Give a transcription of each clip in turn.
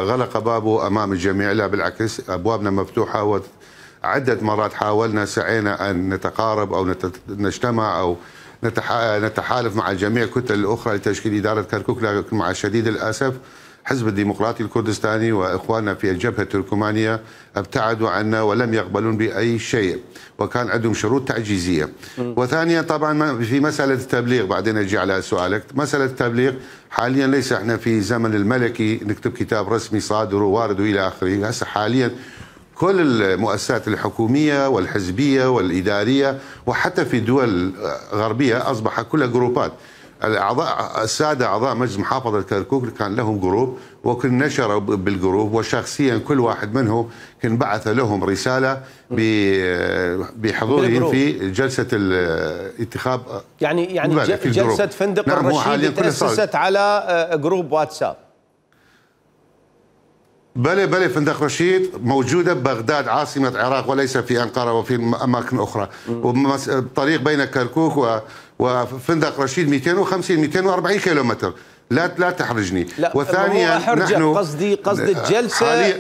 غلق بابه امام الجميع، لا بالعكس ابوابنا مفتوحه، وعده مرات حاولنا سعينا ان نتقارب او نجتمع او نتحالف مع جميع الكتل الاخرى لتشكيل اداره كركوك، لكن مع شديد الاسف حزب الديمقراطي الكردستاني واخواننا في الجبهه التركمانيه ابتعدوا عنا ولم يقبلون باي شيء، وكان عندهم شروط تعجيزيه. وثانيا طبعا في مساله التبليغ، بعدين اجي على سؤالك، مساله التبليغ حاليا ليس احنا في زمن الملكي نكتب كتاب رسمي صادر ووارد والى اخره، هسه حاليا كل المؤسسات الحكوميه والحزبيه والاداريه وحتى في دول غربيه اصبح كلها جروبات. الاعضاء الساده اعضاء مجلس محافظه كركوك كان لهم جروب، وكن نشروا بالجروب، وشخصيا كل واحد منهم كان بعث لهم رساله بحضورهم في جلسه الانتخاب. يعني جلسه فندق نعم الرشيد تاسست على جروب واتساب. بلى فندق رشيد موجوده ببغداد عاصمه العراق وليس في انقره وفي اماكن اخرى، والطريق بين كركوك وفندق رشيد 250 240 كيلومتر، لا تحرجني. لا وثانيا نحن قصدي الجلسه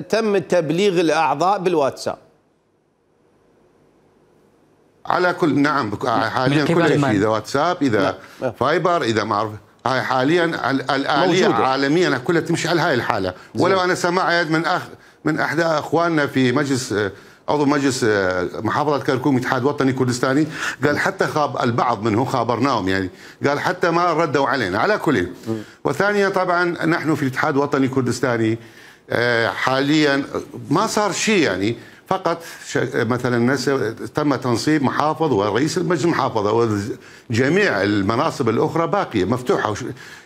تم تبليغ الاعضاء بالواتساب على كل. نعم حاليا كل شيء، اذا واتساب اذا فايبر اذا ما اعرف، هاي حاليا الآلية عالميا كلها تمشي على هاي الحالة. ولو أنا سمعت من أحد أخواننا في مجلس عضو مجلس محافظة كركوك الاتحاد الوطني الكردستاني، قال حتى البعض منهم خابرناهم، يعني قال حتى ما ردوا علينا على كل. وثانيا طبعا نحن في الاتحاد الوطني الكردستاني حاليا ما صار شيء، يعني فقط مثلا تم تنصيب محافظ ورئيس المجلس المحافظه، وجميع المناصب الاخرى باقيه مفتوحه،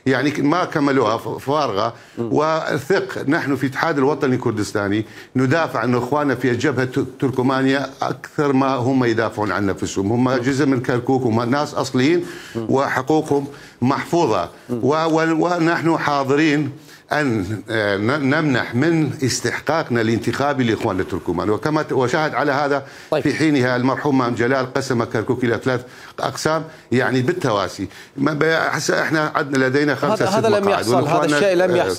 يعني ما كملوها فارغه. وثق نحن في الاتحاد الوطني الكردستاني ندافع عن اخواننا في الجبهه التركمانيه اكثر ما هم يدافعون عن نفسهم، هم جزء من كركوك، هم ناس اصليين وحقوقهم محفوظه، ونحن حاضرين أن نمنح من استحقاقنا الانتخابي لإخواننا التركمان. وكما وشاهد على هذا في حينها المرحوم مام جلال قسم كركوك إلى 3 أقسام يعني بالتواسي. هسه احنا عندنا لدينا 5 6 مقاعد. هذا لم يحصل، هذا الشيء لم يحصل.